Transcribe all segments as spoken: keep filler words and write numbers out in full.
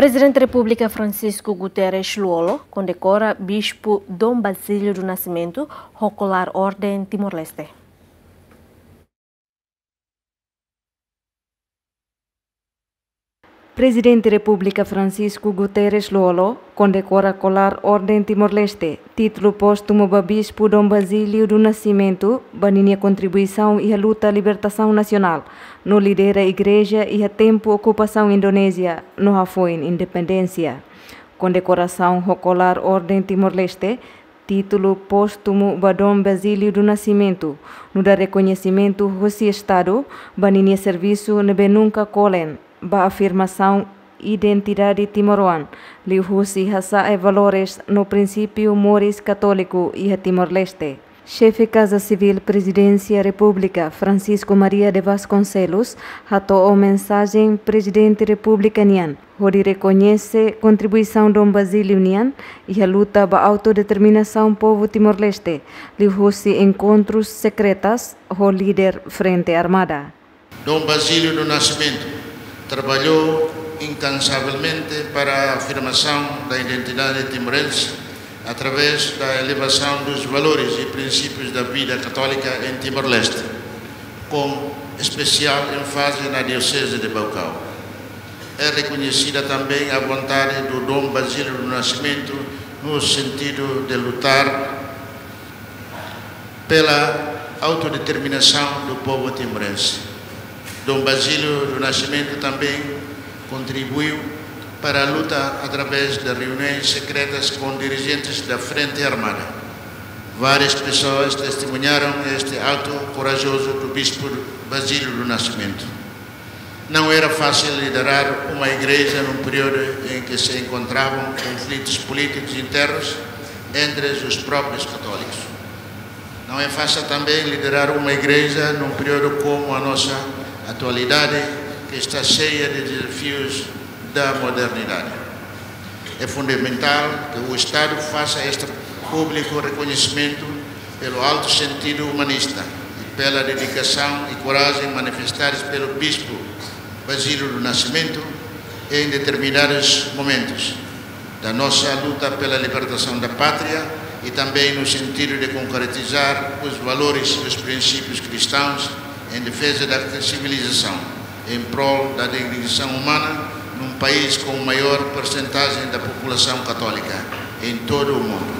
Prezidente Repúblika Francisco Guterres Lú-Olo kondekora Bispu Dom Basílio do Nascimento ho kolar Orden Timor-Leste. Prezidente Repúblika Francisco Guterres Lú-Olo kondekora kolar Orden Timor-Leste, títulu póstumu ba Bispu Dom Basílio do Nascimento, ba ninia kontribuisaun iha luta libertasaun nasionál, no lidera igreja iha tempu okupasaun Indonézia no hafoin independénsia. Kondekorasaun ho kolar Orden Timor-Leste, títulu póstumu ba Dom Basílio do Nascimento, nu'udar rekoñesimentu husi Estadu ba ninia servisu ne'ebé nunka kolen ba afirmasaun identidade timoroan, liuhusi hasa'e valores no prinsípiu moris katóliku iha Timor-Leste. Xefe Kaza Sivíl Prezidénsia Repúblika, Francisco Maria de Vasconcelos, hato'o mensajen Prezidente Repúblika nian, hodi rekoñese kontribuisaun Dom Basílio nian iha luta ba autodeterminasaun povu Timor-Leste, liuhusi enkontrus sekretas ho líder Frente Armada. Dom Basílio do Nascimento trabalhou incansavelmente para a afirmação da identidade timorense através da elevação dos valores e princípios da vida católica em Timor-Leste, com especial ênfase na Diocese de Baucau. É reconhecida também a vontade do Dom Basílio do Nascimento no sentido de lutar pela autodeterminação do povo timorense. Dom Basílio do Nascimento também contribuiu para a luta através de reuniões secretas com dirigentes da Frente Armada. Várias pessoas testemunharam este ato corajoso do Bispo Basílio do Nascimento. Não era fácil liderar uma igreja num período em que se encontravam conflitos políticos internos entre os próprios católicos. Não é fácil também liderar uma igreja num período como a nossa atualidade, que está cheia de desafios da modernidade. É fundamental que o Estado faça este público reconhecimento pelo alto sentido humanista e pela dedicação e coragem manifestadas pelo Bispo Basílio do Nascimento em determinados momentos da nossa luta pela libertação da pátria e também no sentido de concretizar os valores e os princípios cristãos em defesa da civilização, em prol da dignização humana, num país com maior percentagem da população católica em todo o mundo.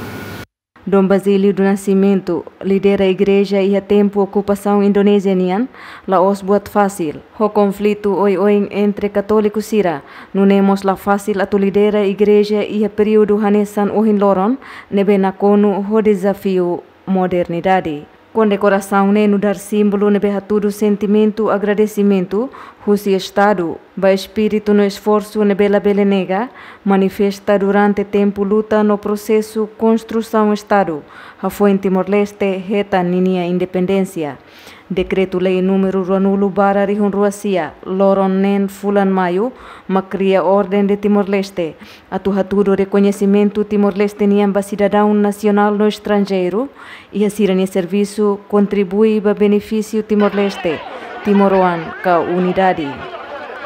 Dom Basílio do Nascimento lidera igreja iha tempu okupasaun Indonézia nian, la'ós buat fasil. Ho konflitu oioin entre katóliku sira, nune'e mós la fasil atu lidera igreja iha períodu hanesan ohin loron, ne'ebé nakonu ho dezafiu modernidade. Kondekorasaun ne'e nu'udar símbolu ne'ebé hatudu sentimentu agradesimentu husi Estadu ba espíritu no esforsu ne'ebé labele nega, manifesta durante tempu luta no prosesu konstrusaun Estadu, hafoin Timor-Leste hetan ninia independénsia. Dekretu-Lei númeru ruanulu barra rihun rua sia, loron neen fulan Maiu, mak kria Orden de Timor-Leste, atu hatudu rekoñesimentu Timor-Leste nian ba sidadaun nasionál no estranjeiru, iha sira-nia servisu kontribui ba benefísiu Timor-Leste, timoroan ka unidade.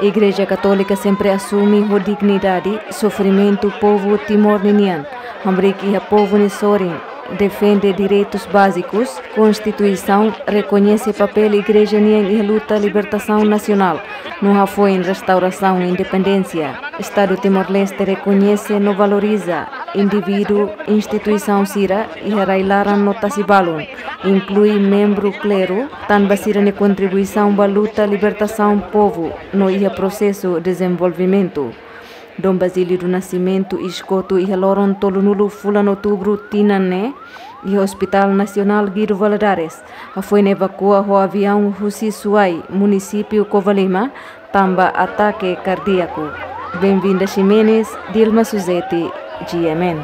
Igreja Katólika sempre asume ho dignidade sofrimentu povu Timor ninian, hamriik iha povu nia sorin, defende direitus bázikus, Konstituisaun rekoñese papél igreja nian iha luta libertasaun nasionál, no hafoin restaurasaun independénsia. Estadu Timor-Leste rekoñese no valoriza indivíduu, instituisaun sira iha rai-laran no tasi-balun, inklui membru kleru, tanba sira-nia kontribuisaun ba luta libertasaun povu no iha prosesu dezenvolvimentu. Dom Basílio do Nascimento iskotu iha loron tolunulu fulan Outubru tinan ne'e, iha Hospital Nasionál Guido Valadares, hafoin evakua ho aviaun husi Suai, munisípiu Covalima, tanba atake kardíaku. Benvinda Ximenes, Dilma Suzeti, G M N.